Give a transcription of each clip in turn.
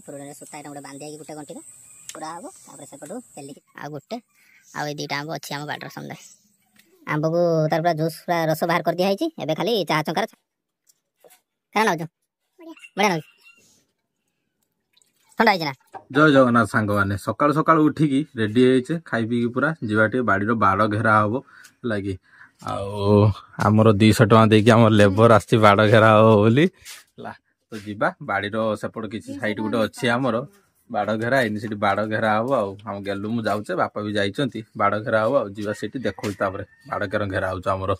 ଫୁରୁଣିରେ ସୂତା ଏଇଟା ଗୋଟେ ବାନ୍ଧି ହେଇକି ଗୋଟେ ଗଣ୍ଠିରେ ପୁରା ହବ, ତାପରେ ସେପଟୁ ପେଲିକି ଆଉ ଗୋଟେ ଆଉ ଏଇ 2ଟା ଆମ୍ବ ଅଛି ଆମ ବାଡ଼ିର। ସମୁଦାୟ ଆମ୍ବକୁ ତାର ପୁରା ଜୁସ୍ ପୁରା ରସ ବାହାର କରିଦିଆ ହେଇଛି। ଏବେ ଖାଲି ଚାହା ଚଙ୍କାର କାରଣ ନଉଛୁ, ବଢ଼ିଆ ନଉଛୁ, ଥଣ୍ଡା ହେଇଛି ନା। ଜୟ ଜଗନ୍ନାଥ ସାଙ୍ଗମାନେ, ସକାଳୁ ସକାଳୁ ଉଠିକି ରେଡି ହେଇଛେ, ଖାଇ ପିଇକି ପୁରା ଯିବା ଟିକେ ବାଡ଼ିର ବାଡ଼ ଘେରା ହବ ହେଲା କି। ଆଉ ଆମର 200 ଟଙ୍କା ଦେଇକି ଆମ ଲେବର ଆସିଛି ବାଡ଼ ଘେରା ହବ ବୋଲି ହେଲା। ତ ଯିବା ବାଡ଼ିର ସେପଟ କିଛି ସାଇଡ୍ ଗୋଟେ ଅଛି ଆମର ବାଡ଼ ଘେରା ହେଇନି, ସେଠି ବାଡ଼ ଘେରା ହବ। ଆଉ ଆମ ଗେଲୁ ମୁଁ ଯାଉଛେ, ବାପା ବି ଯାଇଛନ୍ତି, ବାଡ଼ ଘେରା ହବ ଆଉ ଯିବା ସେଠି ଦେଖଉଛି। ତାପରେ ବାଡ଼ ଘେରା ଘେରା ହଉଛି ଆମର।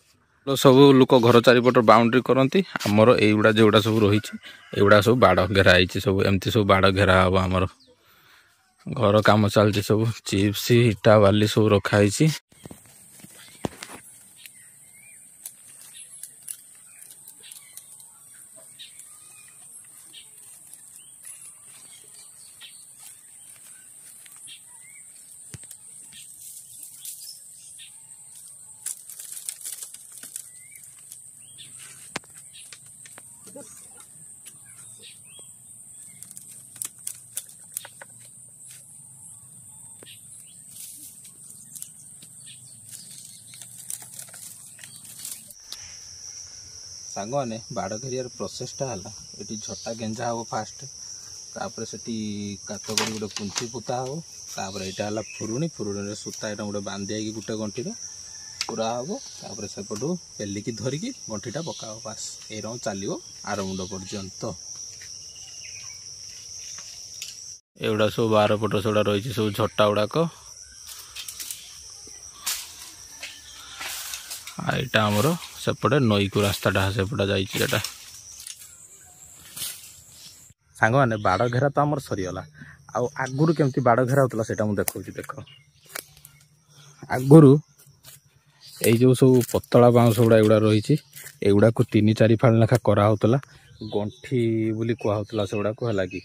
ସବୁ ଲୋକ ଘର ଚାରିପଟ ବାଉଣ୍ଡ୍ରି କରନ୍ତି, ଆମର ଏଇଗୁଡ଼ା ଯେଉଁଗୁଡ଼ା ସବୁ ରହିଛି ଏଇଗୁଡ଼ା ସବୁ ବାଡ଼ ଘେରା ହେଇଛି ସବୁ। ଏମିତି ସବୁ ବାଡ଼ ଘେରା ହବ ଆମର। ଘର କାମ ଚାଲିଛି ସବୁ, ଚିପ୍ସ ଇଟା ବାଲି ସବୁ ରଖା ହେଇଛି। ସାଙ୍ଗମାନେ, ବାଡ଼ ଘେରିବାର ପ୍ରୋସେସଟା ହେଲା ଏଠି ଝଟା ଗେଞ୍ଜା ହେବ ଫାଷ୍ଟ, ତାପରେ ସେଠି କାତ କରି ଗୋଟେ ପୁଞ୍ଚି ପୋତା ହେବ, ତାପରେ ଏଇଟା ହେଲା ଫୁରୁଣି, ଫୁରୁଣିରେ ସୂତା ଏଇଟା ଗୋଟେ ବାନ୍ଧି ହେଇକି ଗୋଟେ ଗଣ୍ଠିରେ ପୁରା ହେବ, ତାପରେ ସେପଟୁ ପେଲିକି ଧରିକି ଗଣ୍ଠିଟା ପକା ହେବ। ବାସ୍ ଏଇ ରକମ ଚାଲିବ ଆର ମୁଣ୍ଡ ପର୍ଯ୍ୟନ୍ତ। ଏଗୁଡ଼ା ସବୁ ବାରପଟ ସେଗୁଡ଼ା ରହିଛି ସବୁ ଝଟା ଗୁଡ଼ାକ। ଆଉ ଏଇଟା ଆମର ସେପଟେ ନଈକୁ ରାସ୍ତାଟା ସେପଟେ ଯାଇଛି ସେଟା। ସାଙ୍ଗମାନେ, ବାଡ଼ ଘେରା ତ ଆମର ସରିଗଲା। ଆଉ ଆଗରୁ କେମିତି ବାଡ଼ ଘେରା ହଉଥିଲା ସେଇଟା ମୁଁ ଦେଖଉଛି ଦେଖ। ଆଗରୁ ଏଇ ଯେଉଁ ସବୁ ପତଳା ବାଉଁଶ ଗୁଡ଼ା ଏଗୁଡ଼ା ରହିଛି, ଏଗୁଡ଼ାକୁ 3-4 ଫାଳ ଲେଖା କରାହଉଥିଲା, ଗଣ୍ଠି ବୋଲି କୁହାହଉଥିଲା ସେଗୁଡ଼ାକୁ ହେଲା କି।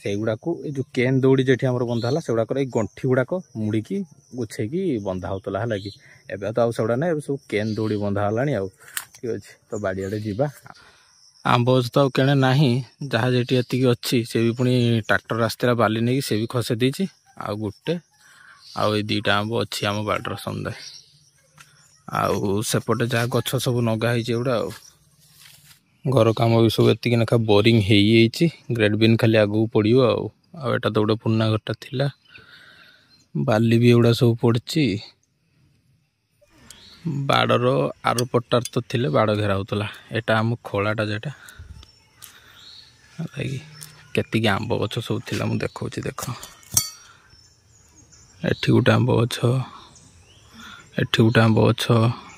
ସେଇଗୁଡ଼ାକୁ ଏଇ ଯେଉଁ କେନ୍ ଦଉଡ଼ି ଯେଠି ଆମର ବନ୍ଧା ହେଲା ସେଗୁଡ଼ାକର ଏଇ ଗଣ୍ଠି ଗୁଡ଼ାକ ମୁଡ଼ିକି ଗୁଛେଇକି ବନ୍ଧା ହଉଥିଲା ହେଲା କି। ଏବେ ତ ଆଉ ସେଗୁଡ଼ା ନାହିଁ, ଏବେ ସବୁ କେନ୍ ଦଉଡ଼ି ବନ୍ଧା ହେଲାଣି ଆଉ। ଠିକ୍ ଅଛି, ତ ବାଡ଼ିଆଡ଼େ ଯିବା। ଆମ୍ବ ଗଛ ତ ଆଉ କେଣେ ନାହିଁ, ଯାହା ଯେଠି ଏତିକି ଅଛି ସେ ବି ପୁଣି ଟ୍ରାକ୍ଟର ଆସିଥିଲା ବାଲି ନେଇକି ସେ ବି ଖସେଇ ଦେଇଛି। ଆଉ ଗୋଟେ ଆଉ ଏଇ 2ଟା ଆମ୍ବ ଅଛି ଆମ ବାଡ଼ିର ସମୁଦାୟ। ଆଉ ସେପଟେ ଯାହା ଗଛ ସବୁ ନଗା ହେଇଛି ଏଗୁଡ଼ା। ଆଉ ଘର କାମ ବି ସବୁ ଏତିକି ଲେଖା ବୋରିଂ ହେଇଯାଇଛି, ଗ୍ରେଡ୍ ବିନ୍ ଖାଲି ଆଗକୁ ପଡ଼ିବ। ଆଉ ଆଉ ଏଇଟା ତ ଗୋଟେ ପୁରୁଣା ଘରଟା ଥିଲା, ବାଲି ବି ଏଗୁଡ଼ା ସବୁ ପଡ଼ିଛି। ବାଡ଼ର ଆର ପଟାର ତ ଥିଲେ ବାଡ଼ ଘେରା ହେଉଥିଲା। ଏଇଟା ଆମ ଖୋଳାଟା ଯେଟା କେତିକି ଆମ୍ବ ଗଛ ସବୁ ଥିଲା ମୁଁ ଦେଖାଉଛି ଦେଖ। ଏଠି ଗୋଟେ ଆମ୍ବ ଗଛ, ଏଠି ଗୋଟେ ଆମ୍ବ ଗଛ,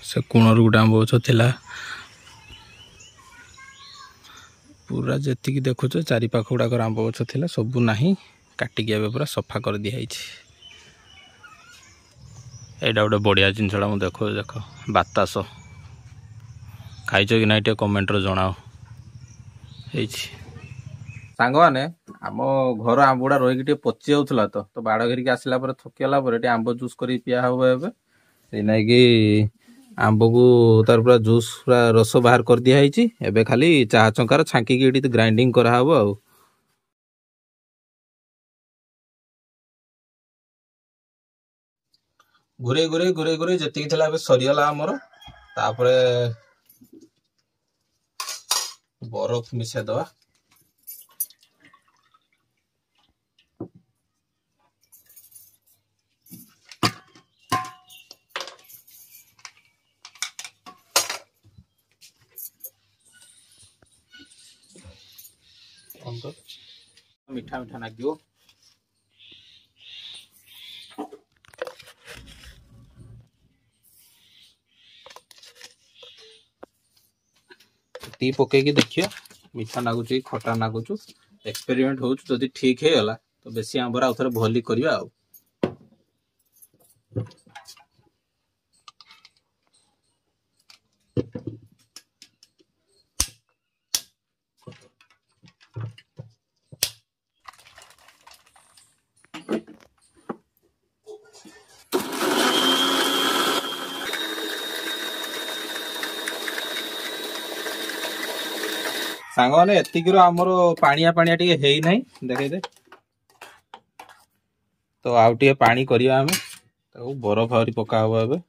ସେ କୋଣରୁ ଗୋଟେ ଆମ୍ବ ଗଛ ଥିଲା। ପୁରା ଯେତିକି ଦେଖୁଛ ଚାରିପାଖ ଗୁଡ଼ାକର ଆମ୍ବ ଗଛ ଥିଲା, ସବୁ ନାହିଁ, କାଟିକି ଏବେ ପୁରା ସଫା କରିଦିଆହେଇଛି। ଏଇଟା ଗୋଟେ ବଢ଼ିଆ ଜିନିଷଟା ମୁଁ ଦେଖାଉଛି ଦେଖ, ବାତାସ ଖାଇଛ କି ନାହିଁ ଟିକେ କମେଣ୍ଟରେ ଜଣାଅ। ହେଇଛି ସାଙ୍ଗମାନେ, ଆମ ଘର ଆମ୍ବ ଗୁଡ଼ା ରହିକି ଟିକେ ପଚି ଯାଉଥିଲା ତ ବାଡ଼ ଘେରିକି ଆସିଲା ପରେ ଥକିଗଲା ପରେ ଟିକେ ଆମ୍ବ ଜୁସ୍ କରିକି ପିଆ ହବ ଏବେ। ସେଇ ନାଇକି ଆମ୍ବକୁ ତାର ପୁରା ଜୁସ୍ ପୁରା ରସ ବାହାର କରିଦିଆ ହେଇଛି। ଏବେ ଖାଲି ଚାହା ଚଙ୍କାର ଛାଙ୍କିକି ଏଠି ଗ୍ରାଇଣ୍ଡିଙ୍ଗ କରାହବ। ଆଉ ଘୁରେଇ ଘୁରେଇ ଘୁରେଇ ଘୁରେଇ ଯେତିକି ଥିଲା ଏବେ ସରିଗଲା ଆମର। ତାପରେ ବରଫ ମିଶେଇଦବା। ମିଠା ମିଠା ଲାଗିବ। ଏତିକି ପକେଇକି ଦେଖିବା ମିଠା ଲାଗୁଛି ଖଟା ଲାଗୁଛୁ, ଏକ୍ସପେରିମେଣ୍ଟ ହଉଛୁ। ଯଦି ଠିକ ହେଇଗଲା ତ ବେଶୀ ଆମ୍ବର ଆଉ ଥରେ ଭଲି କରିବା। ଆଉ ସାଙ୍ଗମାନେ ଏତିକିରୁ ଆମର ପାଣିଆ ପାଣିଆ ଟିକେ ହେଇନାହିଁ, ଦେଖେଇଦେ ତ। ଆଉ ଟିକେ ପାଣି କରିବା ଆମେ ତାକୁ, ବରଫ ଆହୁରି ପକା ହବ ଏବେ।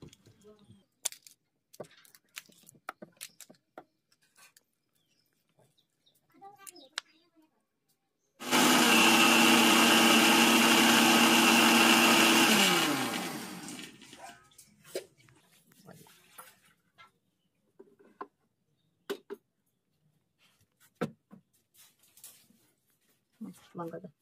ବନ୍ଦ କରିଦେ।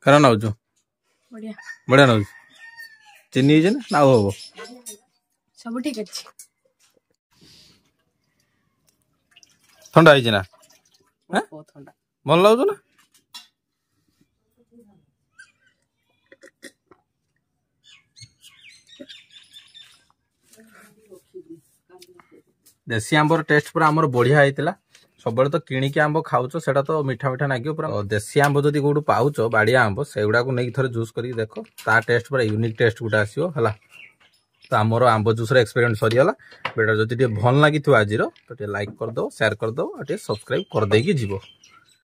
କେନ ନାଉଛୁ? ବଢିଆ। ବଢିଆ ନାଉଛୁ। ଚିନି ହେଇଛି ନା ଆଉ ହବ? ସବୁ ଠିକ ଅଛି। ଥଣ୍ଡା ହେଇଛି ନା? ବହୁତ ଥଣ୍ଡା। ଭଲ ଲାଗୁଛି ନା? ଦେଶୀ ଆମ୍ବର ଟେଷ୍ଟ ପୁରା ଆମର ବଢିଆ ହେଇଥିଲା। ସବୁବେଳେ ତ କିଣିକି ଆମ୍ବ ଖାଉଛ, ସେଇଟା ତ ମିଠା ମିଠା ଲାଗିବ ପୁରା। ଦେଶୀ ଆମ୍ବ ଯଦି କୋଉଠୁ ପାଉଛ, ବାଡ଼ିଆ ଆମ୍ବ, ସେଗୁଡ଼ାକୁ ନେଇକି ଥରେ ଜୁସ୍ କରିକି ଦେଖ, ତା ଟେଷ୍ଟ ପୁରା ୟୁନିକ୍ ଟେଷ୍ଟ ଗୋଟେ ଆସିବ। ହେଲା ତ ଆମର ଆମ୍ବ ଜୁସ୍ର ଏକ୍ସପେରିଏନ୍ସ ସରିଗଲା। ଭିଡ଼ିଓ ଯଦି ଟିକେ ଭଲ ଲାଗିଥିବ ଆଜିର, ତ ଟିକେ ଲାଇକ୍ କରିଦେବ, ସେୟାର କରିଦେବ ଆଉ ଟିକେ ସବସ୍କ୍ରାଇବ୍ କରିଦେଇକି ଯିବ।